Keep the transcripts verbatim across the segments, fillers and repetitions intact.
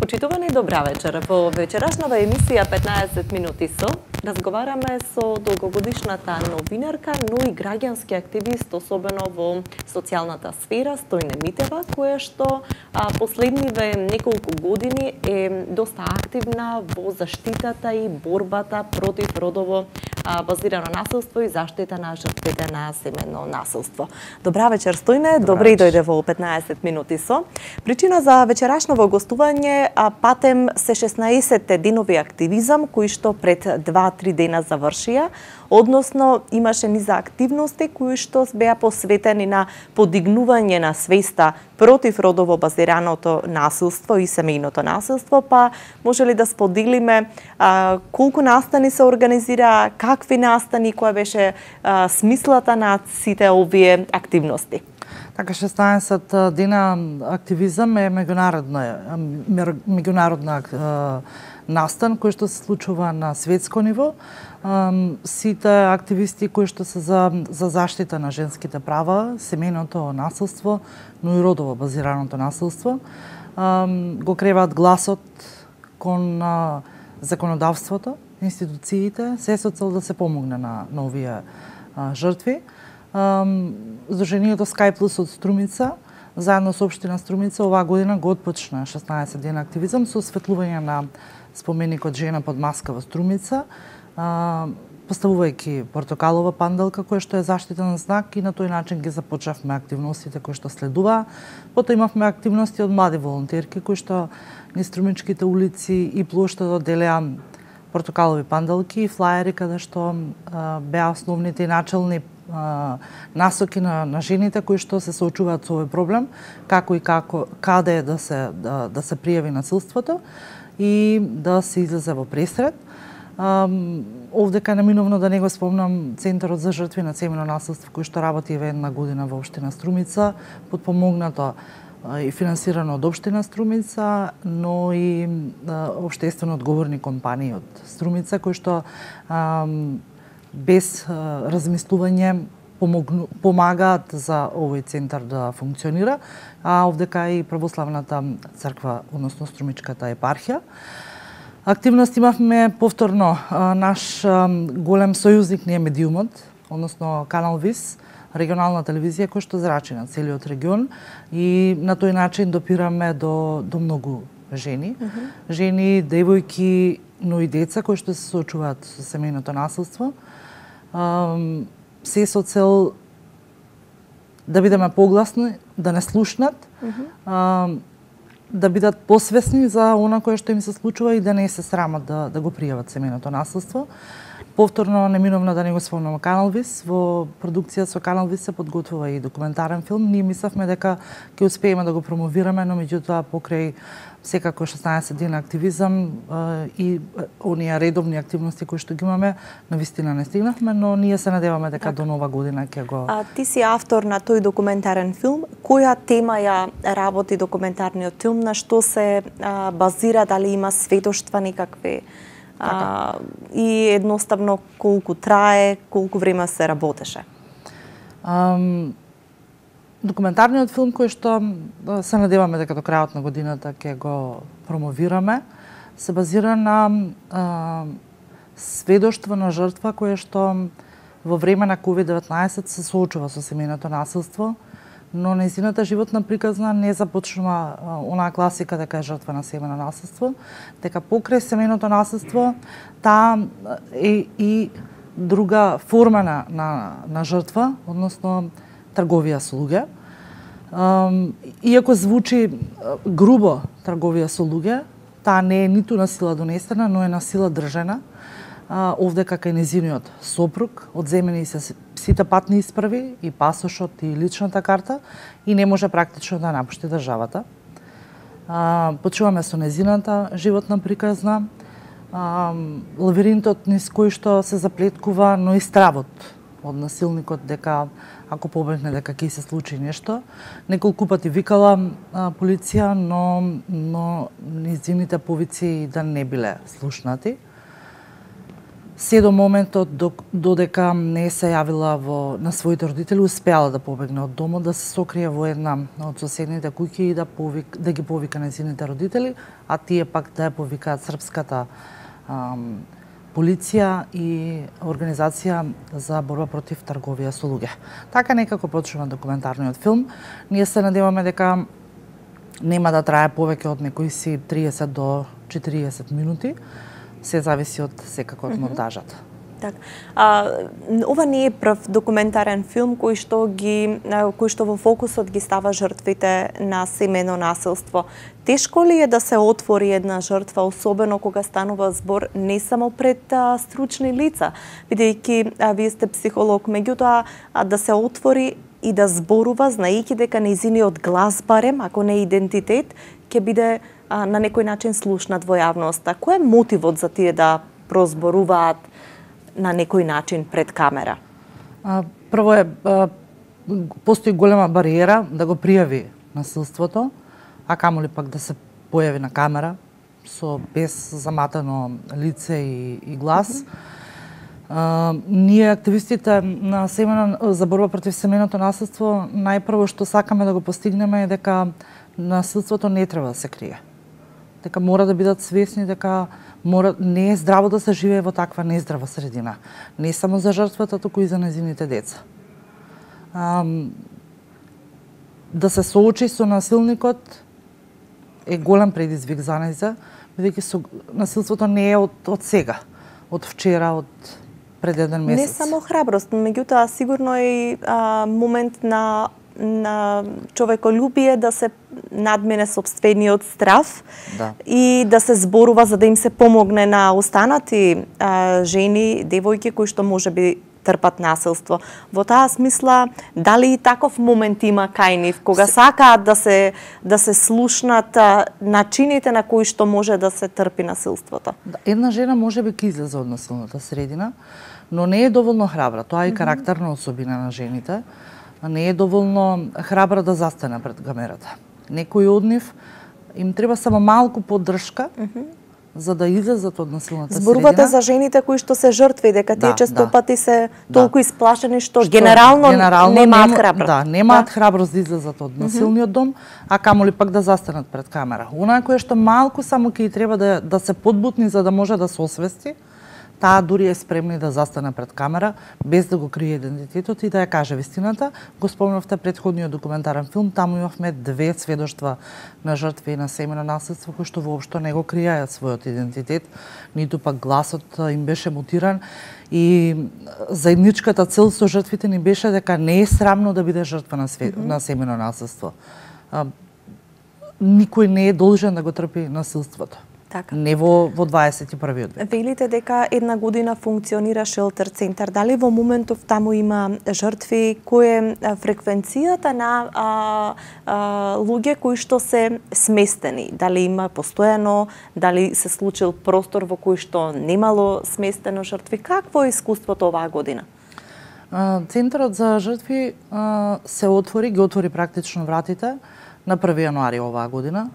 Почитувани, добра вечер. Во вечерашнава емисија петнаесет минути со разговараме со долгогодишната новинарка, но и граѓански активист, особено во социјалната сфера, Стојне Митева, која што а, последниве неколку години е доста активна во заштитата и борбата против родово а, базирано насилство и заштита на жртвите на семено насилство. Добра вечер, Стојне. Добре и дојде во петнаесет минути со. Причина за вечерашново гостување а патем се шеснаесетте денови активизам кои што пред два-три дена завршија, односно имаше низа активности кои што беа посветени на подигнување на свеста против родово базираното насилство и семејното насилство, па може ли да споделиме а, колку настани се организира, какви настани, која беше а, смислата на сите овие активности? Така, шеснаесет дена активизам е меѓународна, меѓународна настан кој што се случува на светско ниво. Сите активисти кои што се за, за заштита на женските права, семејното насилство, но и родово базираното насилство, го креваат гласот кон законодавството, институциите, се со цел да се помогне на, на овие жртви. Сдруженијето Скај Плюс од Струмица, заедно со општина Струмица, оваа година го отпочна шеснаесет дена активизам со осветлување на споменикот Жена под маска во Струмица, поставувајќи портокалова панделка која што е заштитен знак, и на тој начин ги започнавме активностите кои што следува. Потоа имавме активности од млади волонтерки кои што низ струмичките улици и плоштадот делеа портокалови панделки и флаери каде што а, беа основните и начални а, насоки на, на жените кои што се соочуваат со овој проблем, како и како каде да се да, да се пријави насилството и да се излезе во пресред. Um, овдека неминовно да не го спомнам Центарот за жртви на семено насилство кој што работи еве една година во општина Струмица, подпомогнато и финансирано од општина Струмица, но и општествено одговорни компании од Струмица кои што um, без uh, размислување помогну, помагаат за овој центар да функционира, а овдека и православната црква, односно Струмичката епархија. Активност имавме повторно. Наш голем сојузник не е медиумот, односно Канал Вис, регионална телевизија која што зрачи на целиот регион, и на тој начин допираме до, до многу жени. Mm -hmm. Жени, девојки, но и деца кои што се соочуваат со семејното насилство. Се со цел да бидеме погласни, да не слушнат, mm -hmm. да бидат посвесни за она кое што им се случува и да не се срамат да, да го пријават семејното насилство. Повторно, неминовно да не го спомнам Канал Вис, во продукција со Канал Вис се подготвува и документарен филм. Ние мислевме дека ќе успееме да го промовираме, но меѓутоа покрај секако шеснаесет дена активизам и оние редовни активности кои што ги имаме, навистина не стигнавме, но ние се надеваме дека так. До нова година ќе го... А ти си автор на тој документарен филм. Која тема ја работи документарниот филм? На што се а, базира? Дали има сведоштва никакви? А, и едноставно колку трае, колку време се работеше? Um, документарниот филм кој што се надеваме дека до крајот на годината ќе го промовираме, се базира на а, сведоштво на жртва која што во време на ковид деветнаесет се соочува со семејното насилство, но нејзината животна приказна не започнува онаа класика дека е жртва на семено насилство, дека покрај семејното насилство таа е и друга форма на, на, на жртва, односно трговија со луѓе. Иако звучи грубо трговија со луѓе, таа не е ниту на сила донесена, но е на сила држена. Овдека кај незиниот сопруг одземени се сите патни исправи, и пасошот, и личната карта, и не може практично да напушти државата. Почуваме со незината животна приказна, лавиринтот низ кој што се заплеткува, но и стравот од насилникот дека ако побегне дека ќе се случи нешто. Неколку пати викала а, полиција, но но низините повици да не биле слушнати. се до моментот додека не се јавила во на своите родители, успеала да побегне од домот, да се сокрие во една од соседните куќи и да повик, да ги повика нејзините родители, а тие пак да ја повикаат српската ам, полиција и организација за борба против трговија со луѓе. Така некако почнува документарниот филм. Ние се надеваме дека нема да трае повеќе од некои си триесет до четириесет минути. Се зависи од секако од монтажата. Так. А, ова не е прв документарен филм кој што ги кој што во фокусот ги става жртвите на семејно насилство. Тешко ли е да се отвори една жртва, особено кога станува збор не само пред а, стручни лица, бидејќи вие сте психолог, меѓутоа да се отвори и да зборува, знаејќи дека нејзиниот глас барем, ако не идентитет, ќе биде а, на некој начин слушнат во јавноста. Кој е мотивот за тие да прозборуваат на некој начин пред камера? А, прво е, а, постои голема бариера да го пријави насилството, а камоли пак да се појави на камера со без заматано лице и, и глас. Mm -hmm. А, ние активистите на семена за борба против семејното насилство најпрво што сакаме да го постигнеме е дека насилството не треба да се крие. Дека мора да бидат свесни дека мора не е здраво да се живее во таква нездрава средина, не само за жртвата, туку и за нејзините деца. А, да се соочи со насилникот е голем предизвик за нејза, бидејќи насилството не е од, од сега, од вчера, од пред еден месец. Не само храброст, меѓутоа сигурно е и а, момент на на човеколюбие да се надмене сопствениот страв, да. И да се зборува за да им се помогне на останати а, жени, девојки кои што можеби трпат насилство. Во таа смисла, дали и таков момент има кај нив, кога сакаат да се да се слушнат а, начините на кои што може да се трпи насилството? Да, една жена можеби ќе излезе од насилната средина, но не е доволно храбра. Тоа е и карактерна особина на жените. Не е доволно храбра да застане пред камерата. Некои од нив им треба само малку поддршка, mm -hmm. за да излезат од насилната Зборувате средина. За жените кои што се жртви, дека тие да, често да. пати се да. толку исплашени што, што генерално, генерално немаат нема, храброст. Да, немаат да. храброст да излезат од насилниот дом, а камоли пак да застанат пред камера. Онаа која што малку само ќе треба да да се подбутни за да може да се освести, таа дури е спремна да застане пред камера, без да го крие идентитетот и да ја каже вистината. Го спомнавте предходниот документарен филм, таму имавме две сведоштва на жртви на семејно насилство кои што воопшто не го криеа својот идентитет, ниту пак гласот им беше мутиран и заедничката цел со жртвите ни беше дека не е срамно да биде жртва на, све... mm -hmm. на семејно насилство. А, никој не е должен да го трпи насилството. Така. Не во, во дваесет и првиот век. Велите дека една година функционира шелтер центар. Дали во моментов таму има жртви? Кој е фреквенцијата на а, а, луѓе кои што се сместени? Дали има постојано? Дали се случил простор во кој што немало сместено жртви? Какво е искуството оваа година? А, Центарот за жртви а, се отвори, ги отвори практично вратите на први јануари оваа година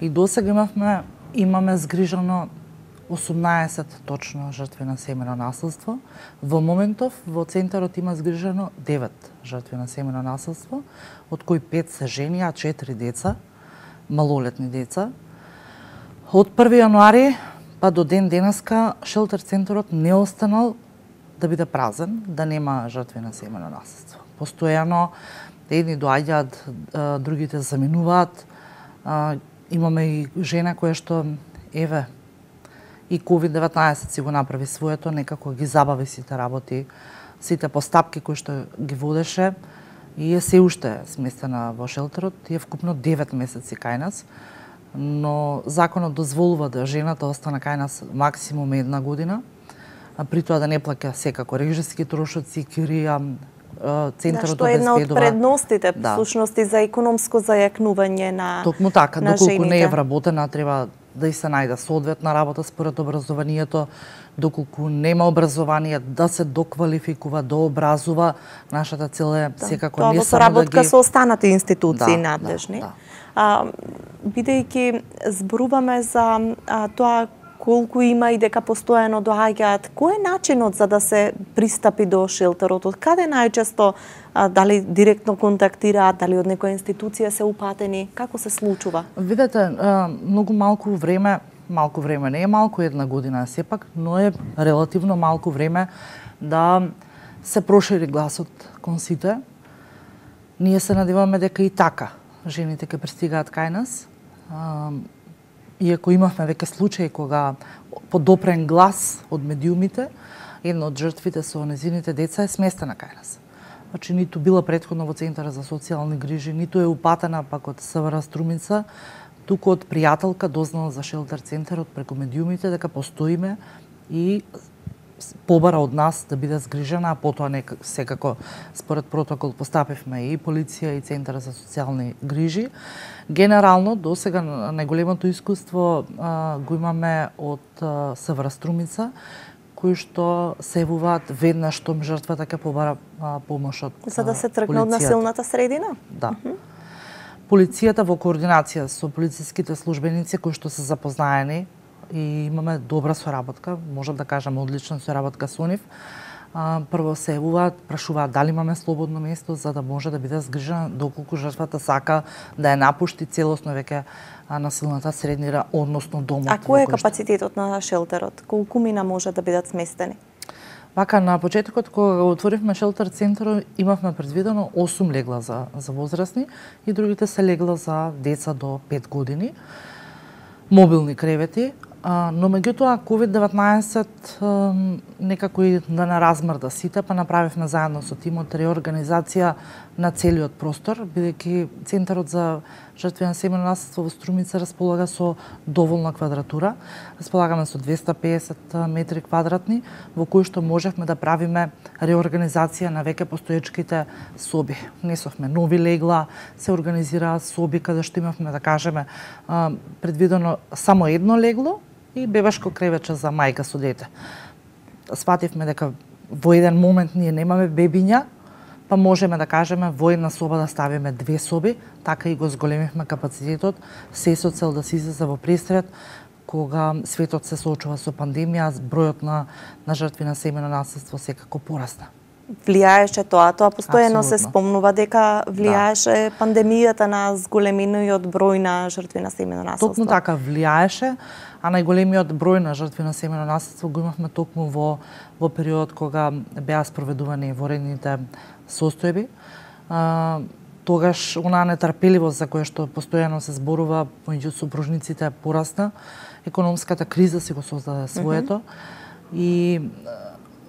и досега имавме имаме згрижано осумнаесет точно жртви на семејно насилство. Во моментов во центарот има згрижано девет жртви на семејно насилство, од кои пет се жени, а четири деца, малолетни деца. Од први јануари па до ден денеска шелтер центарот не останал да биде празен, да нема жртви на семејно насилство. Постојано едни доаѓаат, другите заминуваат. Имаме и жена која што, еве, и ковид деветнаесет си го направи своето, некако ги забави сите работи, сите постапки кои што ги водеше и е се уште сместена во шелтерот, е вкупно девет месеци кај нас, но законот дозволува да жената остане кај нас максимум една година, а при тоа да не плаќа секако режиски трошоци, кирија, центарот да, што е една од предностите, да. Всушност и за економско зајакнување на Токму така, на доколку жените. не е вработена, треба да и се најде соодветна работа според образованието, доколку нема образование, да се доквалификува, да образува. Нашата цел е да. секако тоа не во само соработка да ги... со останати институции да, надлежни. Да, да. А, бидејќи зборуваме за а, тоа колку има и дека постојано доаѓаат. Кој е начинот за да се пристапи до шелтерот? Од каде најчесто, а, дали директно контактираат, дали од некоја институција се упатени? Како се случува? Видете, многу малку време, малку време не е малку, една година сепак, но е релативно малку време да се прошири гласот кон сите. Ние се надеваме дека и така жените ќе пристигаат кај нас. Иако имавме веќе случаи кога подопрен глас од медиумите, една од жртвите со незините деца е сместена кај нас. Значи, ниту била претходно во Центарот за социјални грижи, ниту е упатена пак од СВР Струмица, туку од пријателка дознала за шелтер центарот преку медиумите дека постоиме и побара од нас да биде згрижена, а потоа не секако според протокол постапивме и полиција и Центар за социјални грижи. Генерално до сега најголемото искуство а, го имаме од а, СВР Струмица, кои што се јавуваат веднаш штом жртвата ќе побара а, помош од полицијата. За да се тргне од насилната средина? Да. Uh -huh. Полицијата во координација со полициските службеници кои што се запознаени и имаме добра соработка, можам да кажам одлична соработка со нив. Прво се јавуваат, прашуваат дали имаме слободно место за да може да биде згрижена доколку жртвата сака да ја напушти целосно веќе насилната среднина, односно домот. А кој е капацитетот на шелтерот? Колку мина може да бидат сместени? Вака, на почетокот, кога го отворивме шелтер центарот, имавме предвидено осум легла за, за возрастни и другите се легла за деца до пет години. Мобилни кревети, но меѓутоа ковид деветнаесет некако и да не размрда сите, па направивме заедно со тимот реорганизација на целиот простор, бидејќи Центарот за жртви на семејно насилство во Струмица располага со доволна квадратура. Располагаме со двесте и песет метри квадратни, во кои што можевме да правиме реорганизација на веќе постоечките соби. Несовме нови легла, се организираа соби каде што имавме, да кажеме, предвидено само едно легло и бебешко кревече за мајка со дете. Свативме дека во еден момент ние немаме бебиња, па можеме да кажеме во една соба да ставиме две соби, така и го зголемивме капацитетот, се со цел да се излезе во престрет, кога светот се соочува со пандемија, бројот на, на жртви на семејно насилство секако порасна. Влијаеше тоа, тоа постојано се спомнува дека влијаеше да. Пандемијата на зголемениот број на жртви на семејно насилство. Токму така влијаеше, а најголемиот број на жртви на семејно насилство го имавме токму во во периодот кога беа спроведувани воредните состојби. А, тогаш онаа нетрпеливост за која што постојано се зборува меѓу супружниците порасна, економската криза си го создаде своето mm -hmm. и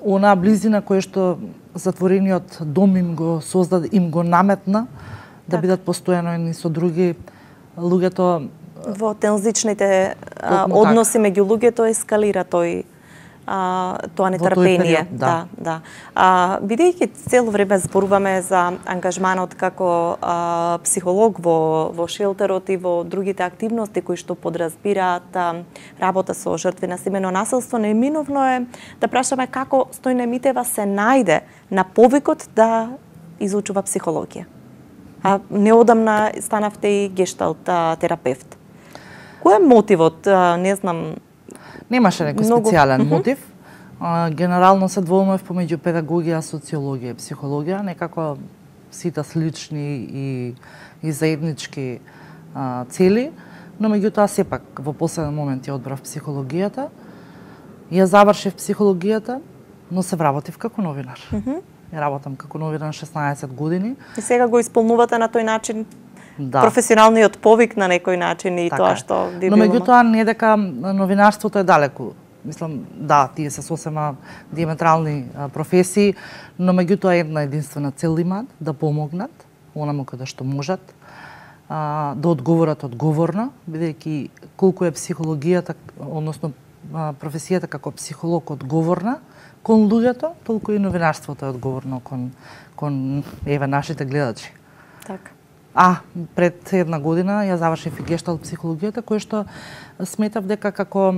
онаа близина која што затворениот дом им го создаде, им го наметна да так. Бидат постојано едни со други. Луѓето во тензичните а, односи меѓу луѓето ескалира тој а, тоа нетрпение. Период, да. да, да. А, бидејќи цело време зборуваме за ангажманот како а, психолог во во шелтерот и во другите активности кои што подразбираат а, работа со жртви на семејно насилство, неминовно е да прашаме како Стојна Митева се најде на повикот да изучува психологија. А неодамна станавте и гешталт а, терапевт. Кој е мотивот? А, не знам. Немаше некој многу... специјален мотив. А, генерално се двоумев помеѓу педагогија, социологија и психологија, некако сите слични и, и заеднички а, цели, но меѓутоа сепак во последен момент ја одбрав психологијата. Ја завршив психологијата, но се вработив како новинар. Mm -hmm. Ја работам како новинар шеснаесет години. И сега го исполнувате на тој начин? Да. Професионалниот повик на некој начин и така тоа што би било. Но меѓутоа не дека новинарството е далеку. Мислам, да, тие се сосема диаметрални а, професии, но меѓутоа една единствена цел имаат да помогнат онаму каде што можат, а, да одговорат одговорно, бидејќи колку е психологијата, односно а, професијата како психолог одговорна кон луѓето, толку и новинарството е одговорно кон кон еве нашите гледачи. Така. А, пред една година ја завршив и гешталт психологијата, која што сметав дека како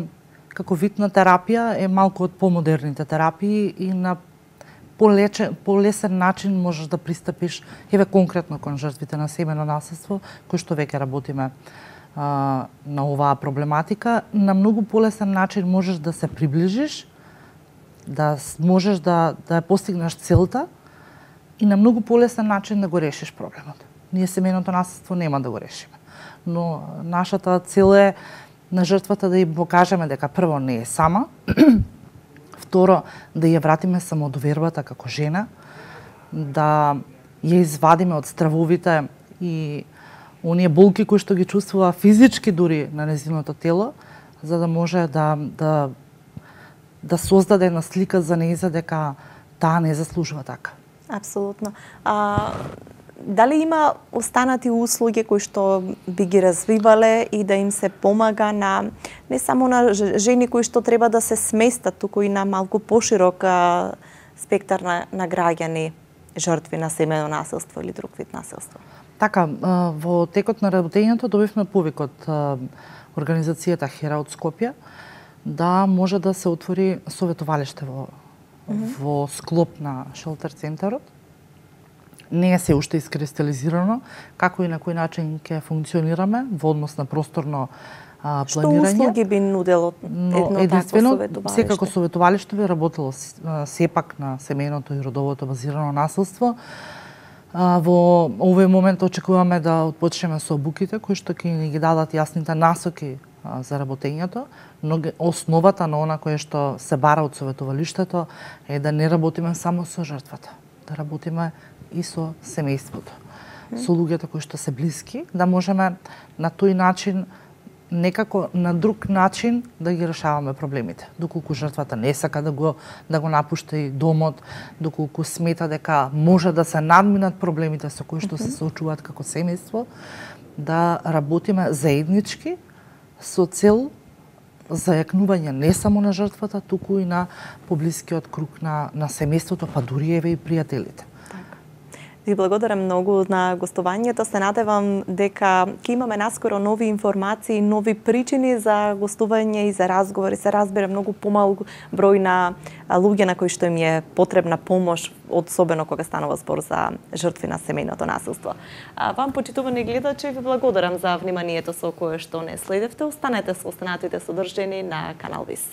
како вид на терапија е малку од помодерните терапии и на полечен, полесен начин можеш да пристапиш еве конкретно кон жртвите на семејно насилство, кои што веќе работиме а, на оваа проблематика, на многу полесен начин можеш да се приближиш, да можеш да, да постигнеш целта и на многу полесен начин да го решиш проблемот. Ние семејното насилство нема да го решиме. Но нашата цел е на жртвата да ја покажеме дека прво не е сама, второ да ја вратиме самодовербата како жена, да ја извадиме од стравовите и оние болки кои што ги чувствува физички дури на нејзиното тело, за да може да да да создаде една слика за нејза дека таа не заслужува така. Апсолутно. А дали има останати услуги кои што би ги развивале и да им се помага на не само на жени кои што треба да се сместат, туку и на малку поширок спектар на, на граѓани жртви на семејно насилство или друг вид насилство? Така, во текот на работењето добивме повик од организацијата Хера од Скопје да може да се отвори советувалиште во, mm -hmm. во склоп на шелтер центарот. Не е се уште искристализирано како и на кој начин ќе функционираме во однос на просторно а, планирање. Што услуги би нудело едно единствено, такво советувалиште? Секако советувалиште би работело сепак на семејното и родовото базирано насилство. А, во овој момент очекуваме да отпочнеме со обуките кои што ќе ни ги дадат јасните насоки а, за работењето, но основата на она кое што се бара од советувалиштето е да не работиме само со жртвата, да работиме и со семејството, mm. со луѓето кои што се блиски, да можеме на тој начин, некако на друг начин да ги решаваме проблемите. Доколку жртвата не сака да го да го напушта и домот, доколку смета дека може да се надминат проблемите со кои што mm -hmm. се соочуваат како семејство, да работиме заеднички со цел зајакнување не само на жртвата, туку и на поблискиот круг на на семејството, па дури еве и пријателите. Ви благодарам многу на гостувањето. Се надевам дека ќе имаме наскоро нови информации, нови причини за гостување и за разговори. Се разбира многу помал број на луѓе на кои што им е потребна помош, особено кога станува збор за жртви на семејното насилство. А, вам, почитувани гледачи, ви благодарам за вниманието со кое што не следевте. Останете со останатите содржини на Канал Вис.